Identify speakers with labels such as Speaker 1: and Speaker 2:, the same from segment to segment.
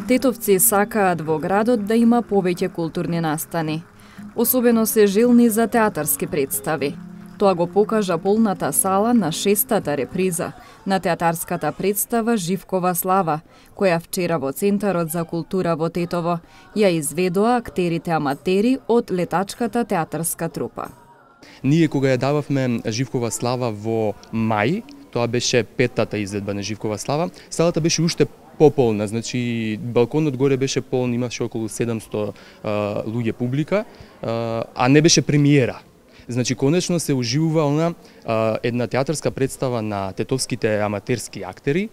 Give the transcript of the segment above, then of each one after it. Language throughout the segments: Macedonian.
Speaker 1: Тетовци сакаат во градот да има повеќе културни настани. Особено се жилни за театарски представи. Тоа го покажа полната сала на 6-та реприза на театарската представа Живкова слава, која вчера во Центарот за култура во Тетово ја изведоа актерите аматери од летачката театарска трупа.
Speaker 2: Ние кога ја дававме Живкова слава во мај, тоа беше 5-та изvedба на Живкова слава, салата беше уште пополна, значи балконот горе беше полн, имаше околу 700 луѓе публика, а не беше премиера. Значи конечно се уживува она една театарска представа на тетовските аматерски актери,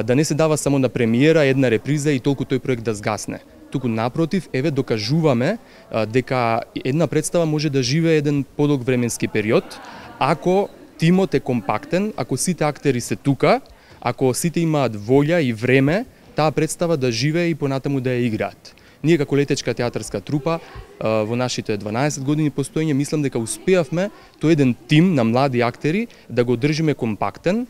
Speaker 2: да не се дава само на премиера, една реприза и толку тој проект да згасне. Туку напротив, еве докажуваме дека една представа може да живее еден подолг временски период, ако тимот е компактен, ако сите актери се тука, ако сите имаат волја и време, таа представа да живее и понатаму да ја играат. Ние како летечка театарска трупа во нашите 12 години постоење мислам дека успеавме тој еден тим на млади актери да го држиме компактен,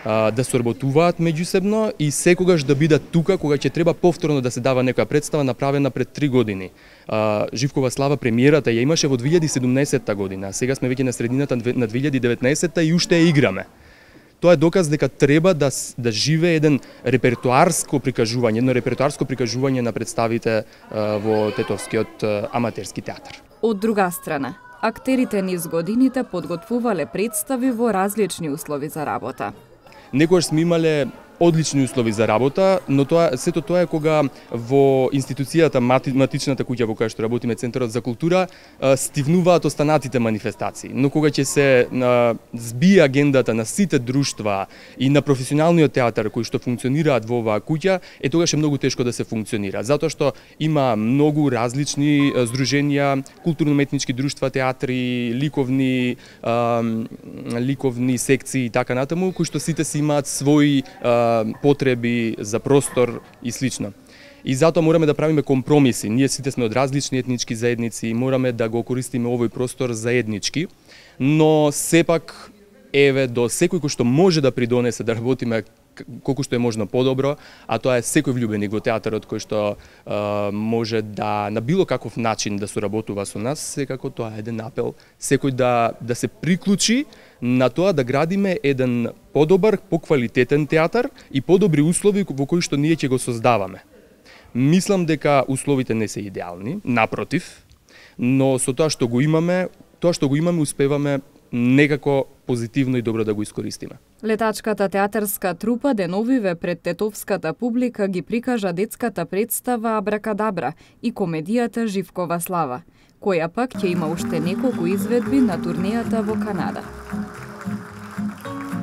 Speaker 2: да соработуваат меѓусебно и секогаш да бидат тука кога ќе треба повторно да се дава некоја представа направена пред 3 години. Живкова слава премиерата ја имаше во 2017 година, а сега сме веќе на средината на 2019 и уште ја играме. Тоа е доказ дека треба да живее еден репертуарско прикажување, едно репертуарско прикажување на представите во тетовскиот аматерски театар.
Speaker 1: Од друга страна, актерите низ годините подготвувале представи во различни услови за работа.
Speaker 2: Некогаш сме имале одлични услови за работа, но сето тоа е кога во институцијата матичната куќа во која што работиме Центарот за култура стивнуваат останатите манифестации. Но кога ќе се збие агендата на сите друштва и на професионалниот театар кои што функционираат во оваа куќа, тогаш е многу тешко да се функционира, затоа што има многу различни здруженија, културно-уметнички друштва, театри, ликовни секции и така натаму, кои што сите си имаат своји потреби за простор и слично. И затоа мораме да правиме компромиси. Ние сите сме од различни етнички заедници и мораме да го користиме овој простор заеднички, но сепак еве до секој кој што може да придонесе да работиме колку што е можно подобро, а тоа е секој влюбеник во театарот кој што може да на било каков начин да соработува со нас, секако тоа е еден апел секој да се приклучи на тоа да градиме еден подобар, поквалитетен театар и подобри услови во кои што ние ќе го создаваме. Мислам дека условите не се идеални, напротив, но со тоа што го имаме успеваме некако позитивно и добро да го искористиме.
Speaker 1: Летачката театарска трупа деновиве пред тетовската публика ги прикажа детската представа Абракадабра и комедијата Живкова слава, која пак ќе има уште неколку изведби на турнејата во Канада.